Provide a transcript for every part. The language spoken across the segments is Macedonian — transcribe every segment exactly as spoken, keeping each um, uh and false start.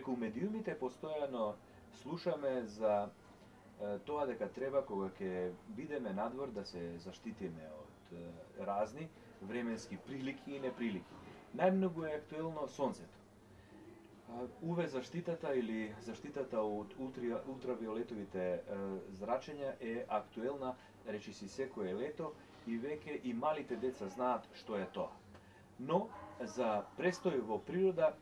преку медиумите постојано слушаме за е, тоа дека треба кога ќе бидеме надвор да се заштитиме од е, разни временски прилики и неприлики. Најмногу е актуелно сонцето. У ве заштитата или заштитата од ултри, ултравиолетовите е, зрачења е актуелна, речиси секое лето, и веќе и малите деца знаат што е тоа. Но за престој во природа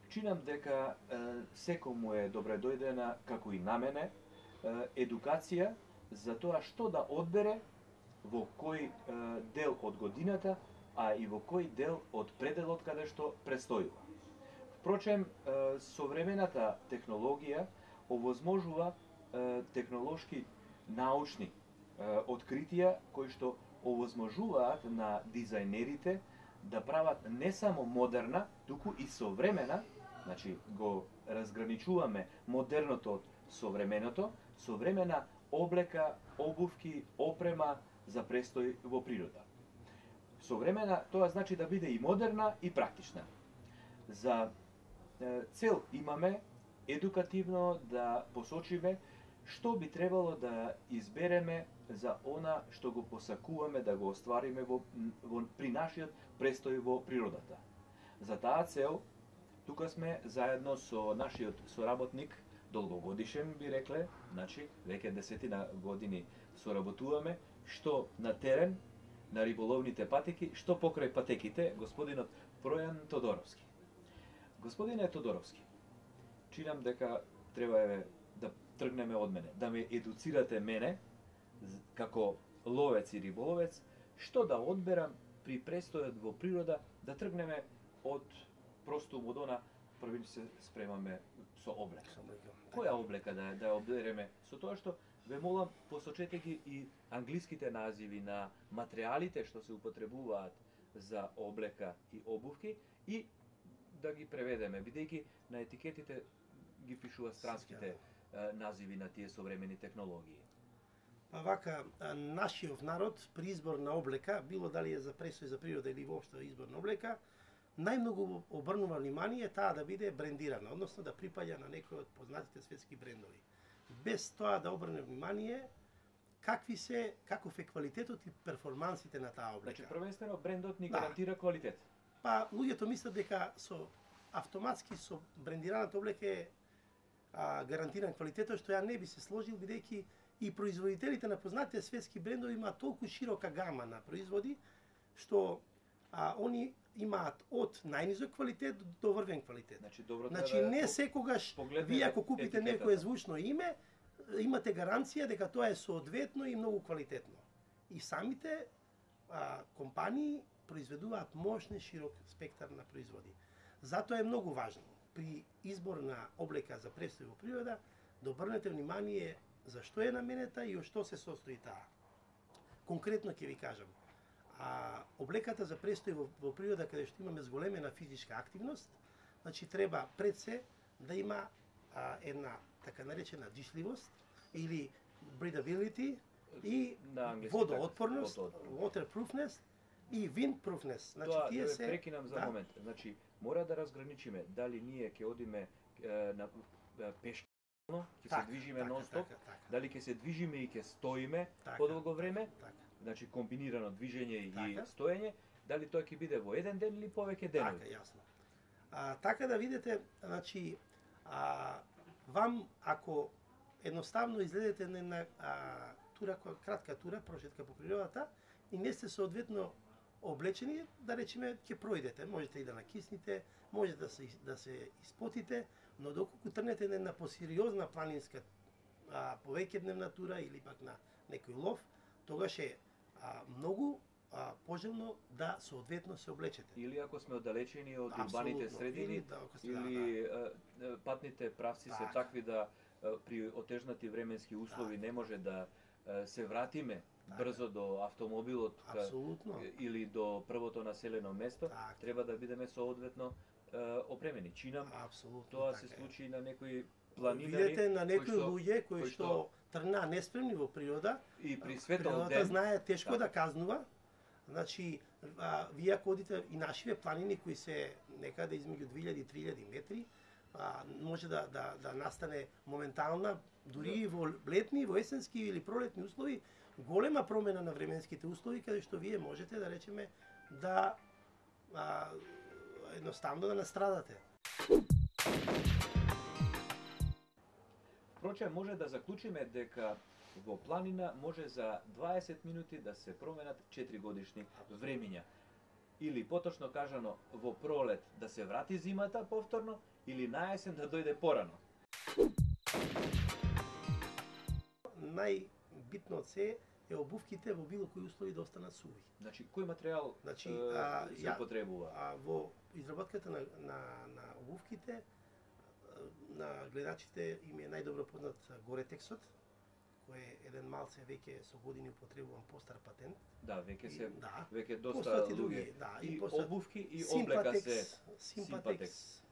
чинам дека е, секому е добре дојдена, како и на мене, е, едукација за тоа што да одбере во кој е, дел од годината, а и во кој дел од пределот каде што престојува. Впрочем, е, современата технологија овозможува е, технолошки научни е, откритија кои што овозможуваат на дизајнерите да прават не само модерна, туку и современа, значи го разграничуваме модерното од современото, современа облека, обувки, опрема за престој во природа. Современа, тоа значи да биде и модерна и практична. За е, цел имаме едукативно да посочиме што би требало да избереме за она што го посакуваме да го оствариме во, во, при нашиот престој во природата. За таа цел, тука сме заедно со нашиот соработник, долгогодишен би рекле, значи веќе десетина години соработуваме, што на терен, на риболовните патеки, што покрај патеките, господинот Пројан Тодоровски. Господине Тодоровски, чинам дека треба е да тргнеме од мене, да ме едуцирате мене, како ловец и риболовец, што да одберам при престојот во природа, да тргнеме од просто од она, први се спремаме со облека. Која облека да, да одбереме? Со тоа што ве молам, посочете ги и англиските називи на материјалите што се употребуваат за облека и обувки и да ги преведеме, бидејќи на етикетите ги пишува странските е, називи на тие современи технологии. Па вака, нашиот народ при избор на облека, било дали е за престој за природа или воопшто избор на облека, најмногу обрнува внимание таа да биде брендирана, односно да припаѓа на некој од познатите светски брендови. Без тоа да обрне внимание какви се, каков е квалитетот и перформансите на таа облека. Значи, првенствено брендот ни гарантира да. Квалитет. Па луѓето мислат дека со автоматски со брендираната облека е а, гарантиран квалитетот, што ја не би се сложил, бидејќи и производителите на познатите светски брендови имаат толку широка гама на производи, што а, они имаат од најнизок квалитет до врвен квалитет. Значи, добро, значи не секогаш вие ако купите некое звучно име, имате гаранција дека тоа е соодветно и многу квалитетно. И самите а, компании произведуваат мощен широк спектар на производи. Затоа е многу важно при избор на облека за престој во природа да обрнете внимание за што е наменета и од што се состои таа. Конкретно ќе ви кажам, а, облеката за престој во, во природа каде што имаме зголемена физичка активност, значи треба пред се да има а, една така наречена дишливост или breathability и водоотпорност, waterproofness и windproofness. Значи тоа, тие се прекинам за да. момент. Значи мора да разграничиме дали ние ќе одиме е, на пешки, ќе се движиме нон-стоп, така, така. дали ќе се движиме и ќе стоиме Така, подолго време, така. значи комбинирано движење Така. и стоење, дали тоа ќе биде во еден ден или повеќе денови. Така, јасно. А, така да видите, значи, а, вам ако едноставно излезете на една а, тура, кратка тура, прошетка по природата и не сте соодветно облечени, да речеме, ќе пројдете, можете и да накисните, можете да се да се испотите, но доколку трнете на една посериозна планинска а, повеќедневна тура или пак на некој лов, тогаш е а, многу а, пожелно да соодветно се облечете. Или ако сме оддалечени од Апсолутно. урбаните средини, или, да, сте, или да, да. патните правци така. се такви да при отежнати временски услови така. не може да се вратиме така. Брзо до автомобилот Апсолутно. или до првото населено место, така. треба да бидеме соодветно опремени. Чинам, Апсолутно, тоа така се е. случи на некои планинари. Видете на некои што, луѓе кои, кои што тргнаа неспремни во природа, и при светол природата ден знае тешко да. да казнува. Значи, а, вие ако одите и нашиве планини кои се некаде измеѓу две илјади и три илјади метри, а, може да, да, да настане моментална, дури и во летни, во есенски или пролетни услови, голема промена на временските услови, каде што вие можете да речеме да а, едноставно да настрадате. Впрочем, може да заклучиме дека во планина може за дваесет минути да се променат четири годишни времиња. Или поточно кажано, во пролет да се врати зимата повторно, или на есен да дојде порано. Најбитно од се е обувките во било кои услови да останат суви. Значи, кој материјал значи, е, а, се ја, потребува? А, во изработката на, на, на обувките, на гледачите им е најдобро познат Горетексот, кој е еден малце веќе со години употребуван постар патент. Да, веќе се да, веќе доста луѓе. Да, и, и постат, обувки и облека се Симпатекс,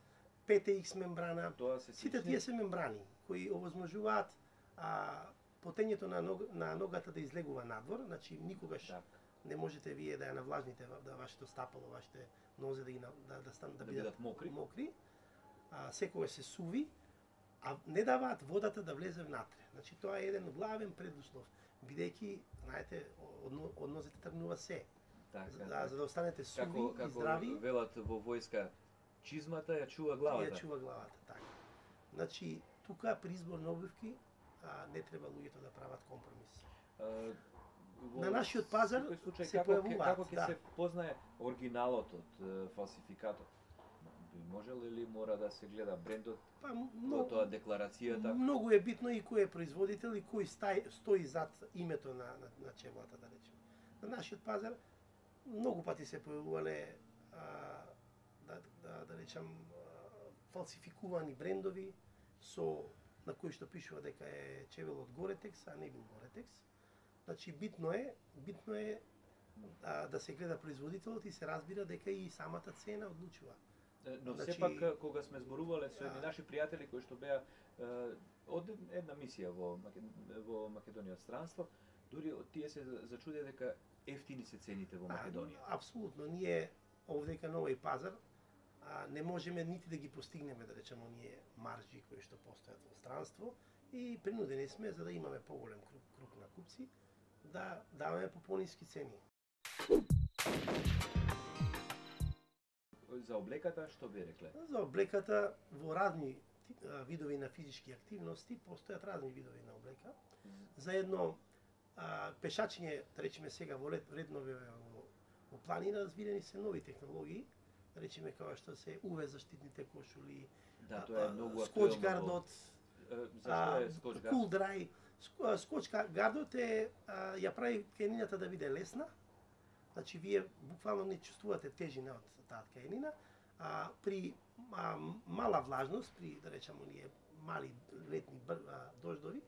пет икс мембрана. се Сите тие се мембрани кои овозможуваат а, потењето на, ног, на ногата да излегува надвор, значи никогаш так. Не можете вие да ја навлажните да вашето стапало, вашите нозе да ги да да стан да, да бидат, бидат мокри. мокри. А секогаш се суви, а не даваат водата да влезе внатре. Значи тоа е еден главен предуслов, бидејќи, знаете, од, од нозете тргнува се. Така, за, така. за да останете суви како, и како здрави. велат во војска, чизмата ја чува главата. Ја чува главата, така. Значи, тука при избор на обувки а, не треба луѓето да прават компромис. А, во на нашиот пазар случај, се како, појавуваат. Како ќе да. се познае оригиналот од е, фалсификатот? Може ли мора да се гледа брендот, па, во тоа декларацијата? Многу е битно и кој е производител и кој стај, стои зад името на, на, на чевлата, да речеме. На нашиот пазар многу пати се појавувале а, да, да, да речам а, фалсификувани брендови со на кои што пишува дека е чевел од Горетекс, а не бил Горетекс. Значи битно е, битно е а, да се гледа производителот и се разбира дека и самата цена одлучува. Но значи, сепак кога сме зборувале со едни а, наши пријатели кои што беа е, од една мисија во во Македонија од странство, дури тие се зачудија дека ефтини се цените во Македонија. А, апсолутно, ние овдека на овој пазар а, не можеме нити да ги постигнеме, да речеме, оние маржи кои што постојат во странство и принудени сме за да имаме поголем круг, круг на купци да даваме по пониски цени. За облеката што би рекле? За облеката во разни видови на физички активности постојат разни видови на облека. За едно а, пешачење, да речеме сега во реднове во, во планина, развидени се нови технологии, да речеме како што се ю ви заштитните кошули, да, тоа е многу скоч гардот, зашто е скоч гард? Кул драй. Скоч гардот е а, ја прави тканината да биде лесна. Значи вие буквално не чувствувате тежина од таа тканина, а при а, мала влажност, при да речеме оние мали летни а, дождови,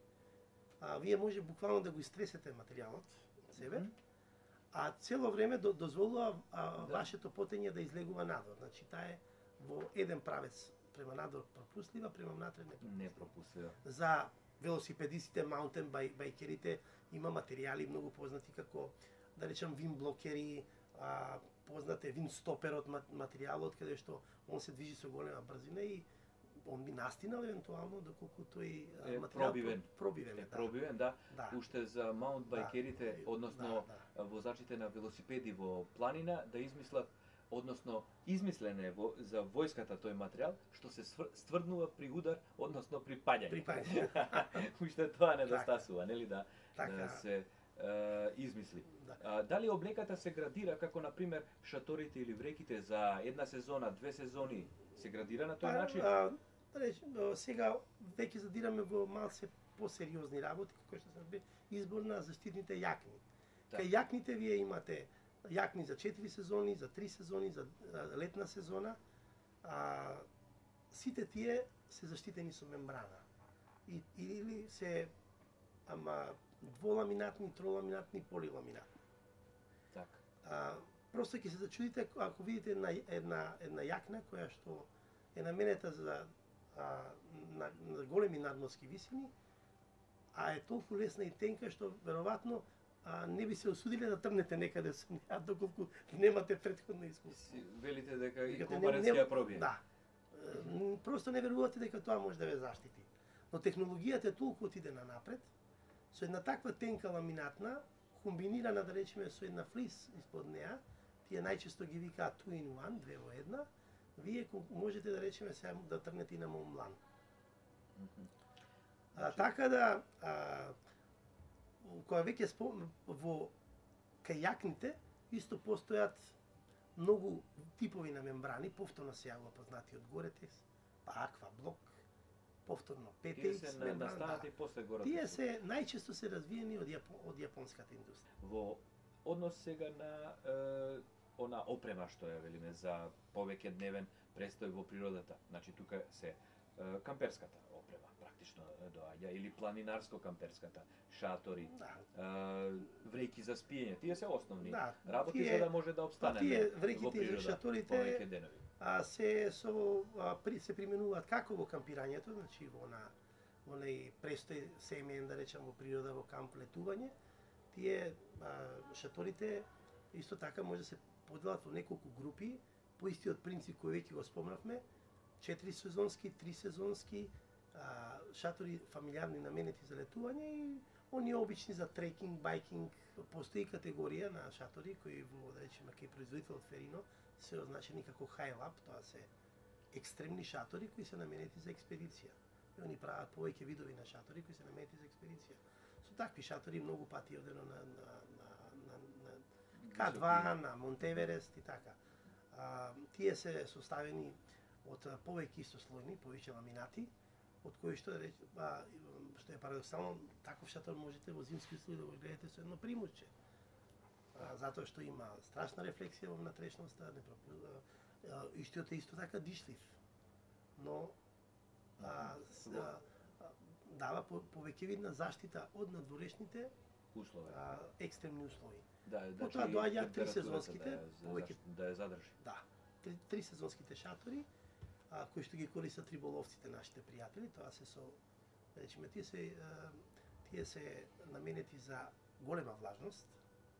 а, вие може буквално да го истресете материјалот од себе, mm -hmm. а цело време до, дозволува а, да. вашето потење да излегува надвор. Значи таа е во еден правец према надвор пропуслива, према внатре не пропуслива. Не пропуслива. За велосипедистите, маунтен байкерите има материјали многу познати како да речем вин блокери, а, познат е вин стоперот материјалот каде што он се движи со голема брзина и он би настинал евентуално доколку тој е материјал пробивен. пробивен е да. пробивен, да. да. Уште за маунт байкерите, да. односно да, да. возачите на велосипеди во планина да измислат, односно измислен е во, за војската тој материјал што се стврднува при удар, односно при паѓање. При паѓање. Уште тоа недостасува, нели да, така. да се е, измисли. Да. А, дали облеката се градира како на пример шаторите или вреките за една сезона, две сезони се градира на тој па, начин? А, да речем, сега веќе задираме во малце посериозни работи, како што се избор на заштитните јакни. Да. Кај јакните вие имате јакни за четири сезони, за три сезони, за летна сезона. А, сите тие се заштитени со мембрана. И, или се ама дволаминатни, троламинатни, поливаминатни. Така. А, просто ќе се зачудите ако видите една една една јакна која што е наменета за а, на, на големи надморски висини, а е толку лесна и тенка што веројатно а, не би се осудиле да тргнете некаде со неа доколку немате претходно искуство. Велите дека и комарец ќе ја пробие. Да. Просто не верувате дека тоа може да ве заштити. Но технологијата е толку отиде на напред, со една таква тенка ламинатна, комбинирана, да речеме, со една флис испод неа, тие најчесто ги викаат two in one, две во една, вие можете да речеме сега да тргнете и на Монблан. Mm -hmm. А, така да, а, кога веќе спом... во кајакните, исто постојат многу типови на мембрани, повторно се јавува познати од Горетекс, па Аква Блок, повторно Пе Те Икс мембрана. И после горе. Тие се најчесто се развиени од, Јапон, од јапонската индустрија. Во однос сега на е, она опрема што ја велиме за повеќе дневен престој во природата. Значи тука се е, камперската опрема практично доаѓа или планинарско-камперската, шатори, да. е, врејки за спиење. Тие се основни да, работи тие, за да може да обстанеме тие во природа шаторите, повеќе денови. А се со а, при, се применуваат како во кампирањето, значи во на во нај престој семеен, да речам, во природа, во камп летување. Тие а, шаторите исто така може да се поделат во неколку групи по истиот принцип кој веќе го спомнавме, четири сезонски, три сезонски, а, шатори фамилиарни наменети за летување и оние обични за трекинг, байкинг. Постои категорија на шатори кои во, да речеме, кај производителот Ферино се означени како хайлап, тоа се екстремни шатори кои се наменети за експедиција. И они прават повеќе видови на шатори кои се наменети за експедиција. Со такви шатори многу пати одено на, на, на, на, на К два, на Монтеверест и така. А, тие се составени од повеќе истослојни, повеќе ламинати, од кои што да рече, а, што е парадоксално, таков шатор можете во зимски услови да го гледате со едно примусче. А, затоа што има страшна рефлексија во внатрешноста, не пропу... истиот е исто така дишлив. Но а, а, дава повеќе видна заштита од надворешните услови, а, екстремни услови. Да, да, потоа доаѓаат три сезонските, да, повеќе да ја задржи. Да, три, три сезонските шатори, а, кои што ги користат риболовците, нашите пријатели, тоа се со, да речеме, тие се а, тие се наменети за голема влажност,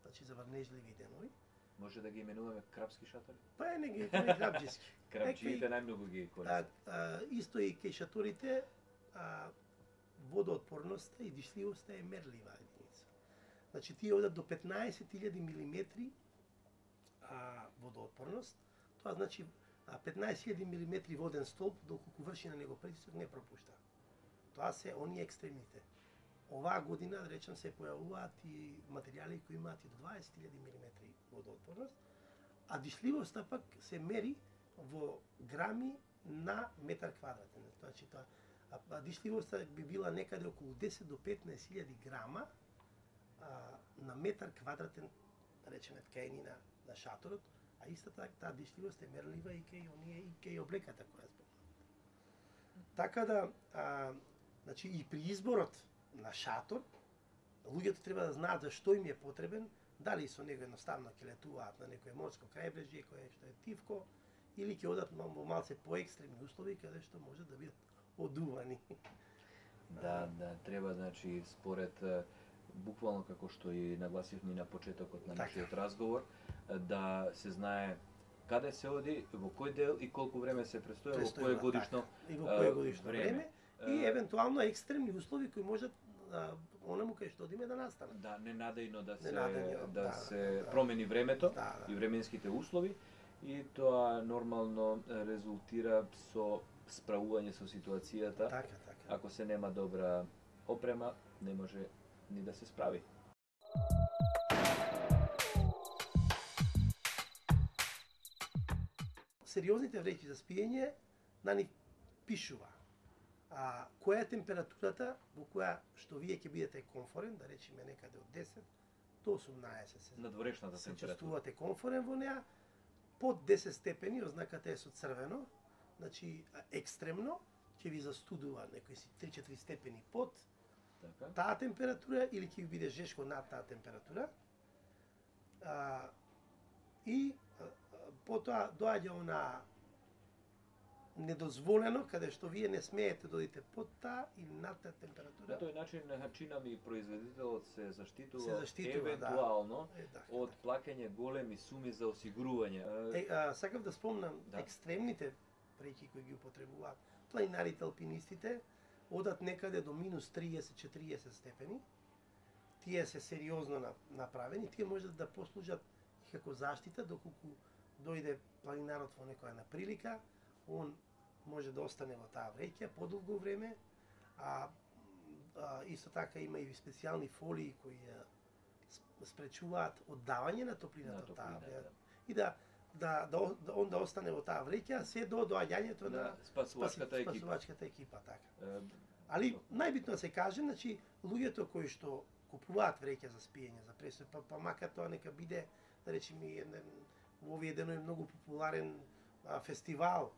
значи за врнежливи денови. Може да ги именуваме крапски шатори? Па е, не ги не крапџиски. Крапџиите најмногу ги користат. А, а, исто и кај шаторите, а, водоотпорноста и дишливоста е мерлива единица. Значи тие одат до петнаесет илјади милиметри а, водоотпорност. Тоа значи петнаесет илјади милиметри воден столб, доколку врши на него притисок, не пропушта. Тоа се оние екстремните. Оваа година, да речем, се појавуваат и материјали кои имаат и до дваесет илјади милиметри водоотпорност, а дишливоста пак се мери во грами на метар квадратен. Значи тоа а дишливоста би била некаде околу десет до петнаесет илјади грама а, на метар квадратен, да речеме, ткаенина на шаторот, а истата така таа дишливост е мерлива и кај оние и кај облеката која спомнав. Така да, а, значи и при изборот на шатор, луѓето треба да знаат за што им е потребен, дали со него едноставно ќе летуваат на некое морско крајбрежје кое што е тивко, или ќе одат во малце поекстремни услови каде што може да бидат одувани. Да, да, треба, значи, според буквално како што и нагласивме на почетокот на нашиот разговор, да се знае каде се оди, во кој дел и колку време се престоја, во кое годишно и во кое годишно време, и евентуално екстремни услови кои можат онаму кај што одиме да настанат. Да, ненадејно да се ненадејно, да, да се да, промени времето да, да. и временските услови и тоа нормално резултира со справување со ситуацијата. Така, така. Ако се нема добра опрема, не може ни да се справи. Сериозните вреќи за спиење на нив пишува. А која е температурата во која што вие ќе бидете комфорен, да речеме некаде од десет до осумнаесет се. Надворешната се температура. чувствувате комфорен во неа. Под десет степени, ознаката е со црвено, значи екстремно, ќе ви застудува некои си три-четири степени под така. Таа температура или ќе ви биде жешко над таа температура. А, и а, потоа доаѓа она недозволено, каде што вие не смеете да одите под таа или над таа температура. На тој начин начина ми производителот се заштитува, се заштитува евентуално да. Е, да, од да. плаќање големи суми за осигурување. Е, а, сакав да спомнам, да. екстремните вреќи кои ги употребуваат планинарите, алпинистите, одат некаде до минус триесет до четириесет степени. Тие се сериозно направени, тие можат да послужат и како заштита доколку дојде планинарот во некоја неприлика, он може да остане во таа вреќа подолго време, а, а исто така има и специјални фолии кои ја спречуваат оддавање на топлината од таа вреќа и да да да да он да остане во таа вреќа се до доаѓањето на спасувачката екипа. Спасувачката екипа така. Али најбитно да се каже, значи луѓето кои што купуваат вреќа за спиење, за пресој, па, па макар тоа нека биде, да речеме, еден во овие денови многу популарен а, фестивал,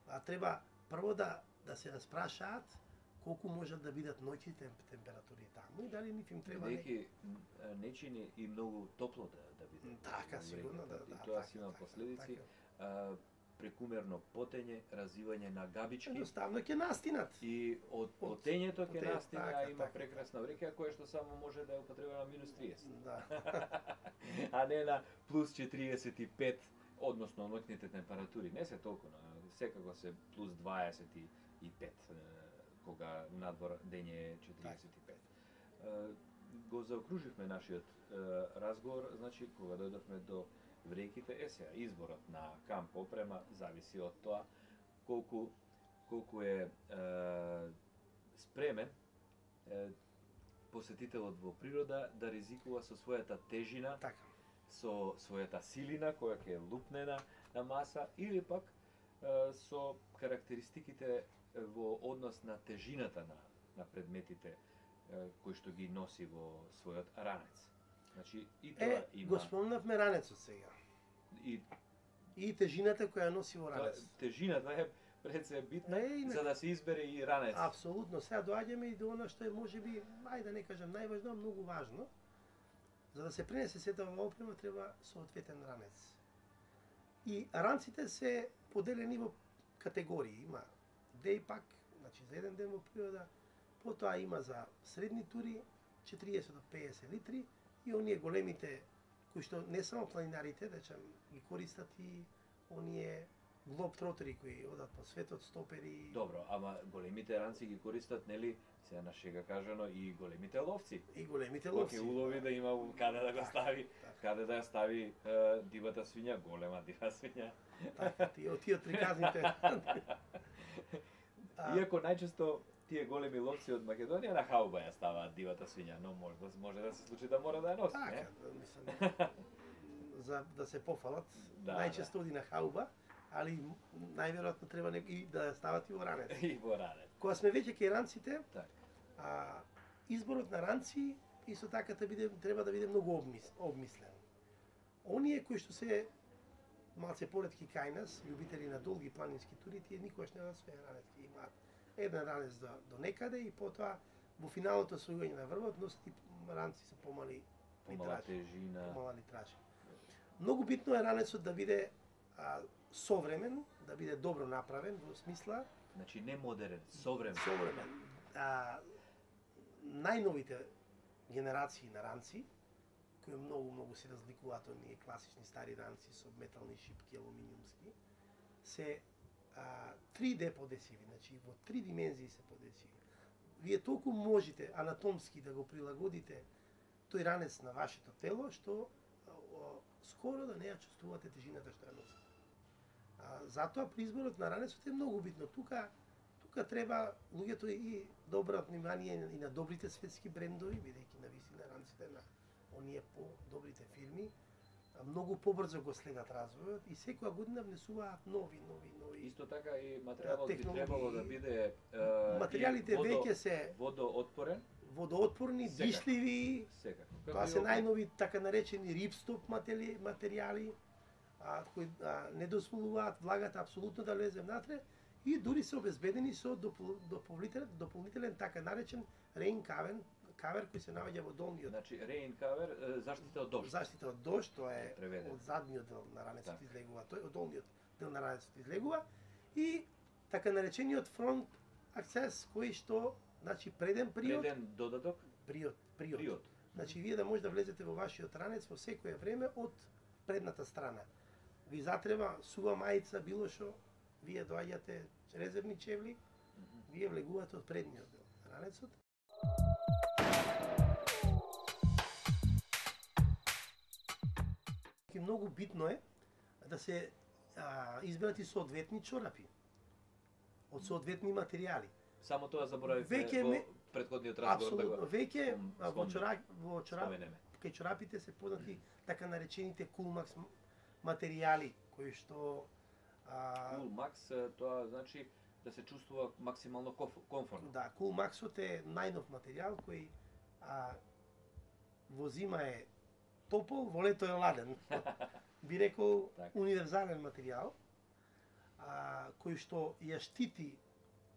а треба прво да да се распрашаат колку можат да бидат ноќните температури таму и дали нив им треба неки нечини и многу топло да да биде. Така, сигурно да, да. И тоа си има последици. А, прекумерно потење, развивање на габички. Едноставно ќе настинат. И од потењето ќе настина, така, има така, прекрасна вреќа која што само може да ја употреба на минус триесет. Да. А не на плюс четириесет и пет, односно ноќните температури. Не се толку, но секако се плюс дваесет и пет, кога надвор дење е четириесет и пет. Го заокруживме нашиот разговор, значи кога дојдовме до вреќите, е сега изборот на камп опрема зависи од тоа колку колку е, е спремен е, посетителот во природа да ризикува со својата тежина, така, со својата силина која ќе лупне на, на маса или пак е, со карактеристиките во однос на тежината на, на предметите е, кои што ги носи во својот ранец. Значи и тоа е, има. го спомнавме ранецот сега. И И тежината која носи во ранец. Тежината е пред се битна, Не, за да се избере и ранец. Апсолутно. Сега доаѓаме и до она што е можеби, ајде да не кажам најважно, а многу важно. За да се пренесе сета ова опрема треба соодветен ранец. И ранците се поделени во категории. Има деј пак, значи за еден ден во природа, потоа има за средни тури четириесет до пеесет литри и оние големите кои што не само планинарите, да речем, ги користат и оние глобтротери кои одат по светот, стопери. Добро, ама големите ранци ги користат, нели, сега на шега кажано, и големите ловци. И големите Кога ловци. ќе улови да има каде да го Така, стави, така. каде да ја стави е, дивата свиња, голема дива свиња. Така, тие, тие приказните. Иако најчесто тие големи ловци од Македонија на хауба ја ставаат дивата свиња, но може да може да се случи да мора да ја носи, Така, не? да, мислам, за да се пофалат, Да, најчесто оди на хауба, али најверојатно треба не, и да ја стават и во ранец. И во ранец. Кога сме веќе кај ранците, Така. а, изборот на ранци исто така да биде, треба да биде многу обмис, обмислен. Оние кои што се малце поретки кај нас, љубители на долги планински тури, тие никогаш не да своја ранец, ќе имаат еден ранец до, до некаде и потоа во финалното освојување на врвот носат и ранци со помали Помала литражи. тежина. Помала литражи. Многу битно е ранецот да биде а, современ, да биде добро направен во смисла Значи не модерен, современ. современ. А, најновите генерации на ранци, кои многу многу се разликуваат од ние класични стари ранци со метални шипки, алуминиумски, се а, три Д подесиви, значи во три димензии се подесиви. Вие толку можете анатомски да го прилагодите тој ранец на вашето тело, што а, о, скоро да не ја чувствувате тежината што ја носите. А, затоа при изборот на ранецот е многу битно. Тука тука треба луѓето и да обратат внимание и на добрите светски брендови, бидејќи навистина ранците на оние по-добрите фирми многу побрзо го следат развојот и секоја година внесуваат нови, нови, нови. Исто така и материјалот би технологии. требало да биде е, Материјалите водо, веќе се водоотпорен, водоотпорни, Секако. дишливи, секако. тоа се најнови така наречени рипстоп матери, материјали, а, кои а, не дозволуваат влагата апсолутно да влезе внатре и дури се обезбедени со допол, дополнителен, дополнителен така наречен рейн кавер, кавер кој се наоѓа во долниот. Значи рейн кавер, е, заштита од дожд. Заштита од дожд, тоа е Преведен. од задниот дел на ранецот Така. излегува, тој од долниот дел на ранецот излегува и така наречениот фронт акцес кој што значи преден приод, Преден додаток, приод, приод. приод. Значи вие да може да влезете во вашиот ранец во секое време од предната страна. Ви затреба сува мајца, било што, вие доаѓате резервни чевли, вие влегувате од предниот дел на ранецот. И многу битно е да се а, изберат и соодветни чорапи од соодветни материјали. Само тоа заборавивме Веќе во ме- претходниот разговор да го Апсолутно, веќе спом- а, во спомнеме. чорап во чорап споменеме. кај чорапите се познати така наречените Coolmax материјали кои што а, Cool Max, е, тоа значи да се чувствува максимално коф- комфортно. да, Coolmaxот е најнов материјал кој а, во зима е топол, во лето е ладен. Би рекол Така. универзален материјал а, кој што ја штити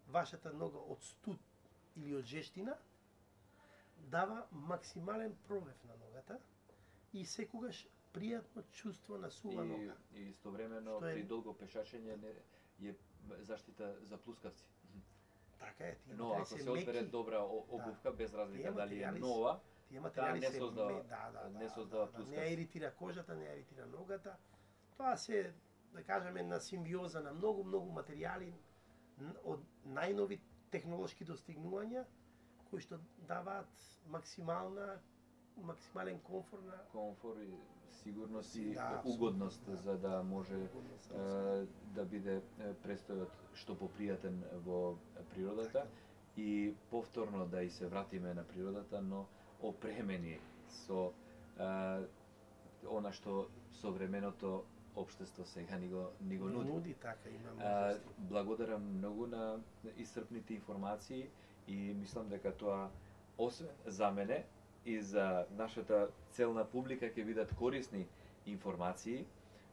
вашата нога од студ или од жештина, дава максимален пробив на ногата и секогаш пријатно чувство на сува И, нога. и истовремено Што е- при долго пешачење не е заштита за плускавци. Така е, тие Но материјали ако се се одбере меки, добра о- обувка без разлика Тие дали е материјали се- нова, тие таа материјали не се создава- ме- да, да, не да, создава да, да, плускавци. не ја иритира кожата, не ја иритира ногата. Тоа се, да кажеме, на симбиоза на многу, многу материјали н- од најнови технолошки достигнувања кои што даваат максимална максимален комфорт на комфор и сигурност и Да, апсолутно, угодност да. за да може Угодност, е, да биде е, престојот што попријатен во природата и повторно да и се вратиме на природата, но опремени со е, она што современото општество сега ни го, ни го нуди. нуди, така има А, можности. благодарам многу на исцрпните информации и мислам дека тоа освен за мене и за нашата целна публика ќе бидат корисни информации,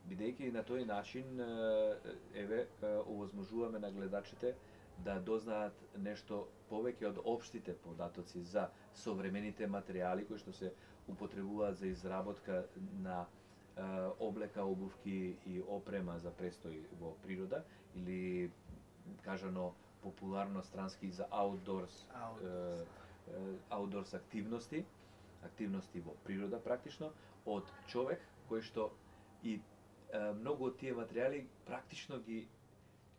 бидејќи на тој начин е, еве е, овозможуваме на гледачите да дознаат нешто повеќе од општите податоци за современите материјали кои што се употребуваат за изработка на е, облека, обувки и опрема за престој во природа или кажано популарно странски за outdoors Outdoors. е, е, outdoors активности, активности во природа практично од човек кој што и е, многу од тие материјали практично ги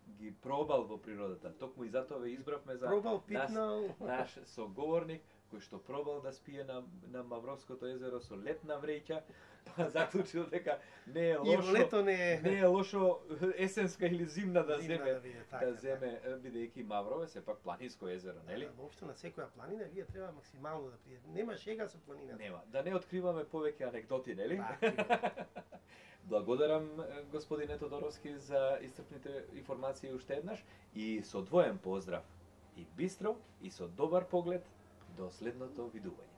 ги пробал во природата. Токму и затоа ве избравме за Пробал, нас, питнал. наш соговорник кој што пробал да спие на, на Мавровското езеро со летна вреќа, па заклучил дека не е И во лошо, лето не е не е лошо есенска или зимна да зимна земе да биде, така, да земе бидејќи Маврово е сепак планинско езеро, нели? Да, воопшто на секоја планина вие треба максимално да пријдете. Нема шега со планината. Нема. Да не откриваме повеќе анегдоти, нели? Да, Благодарам е, господине Тодоровски за исцрпните информации уште еднаш и со двоен поздрав и бистро и со добар поглед до следното видување.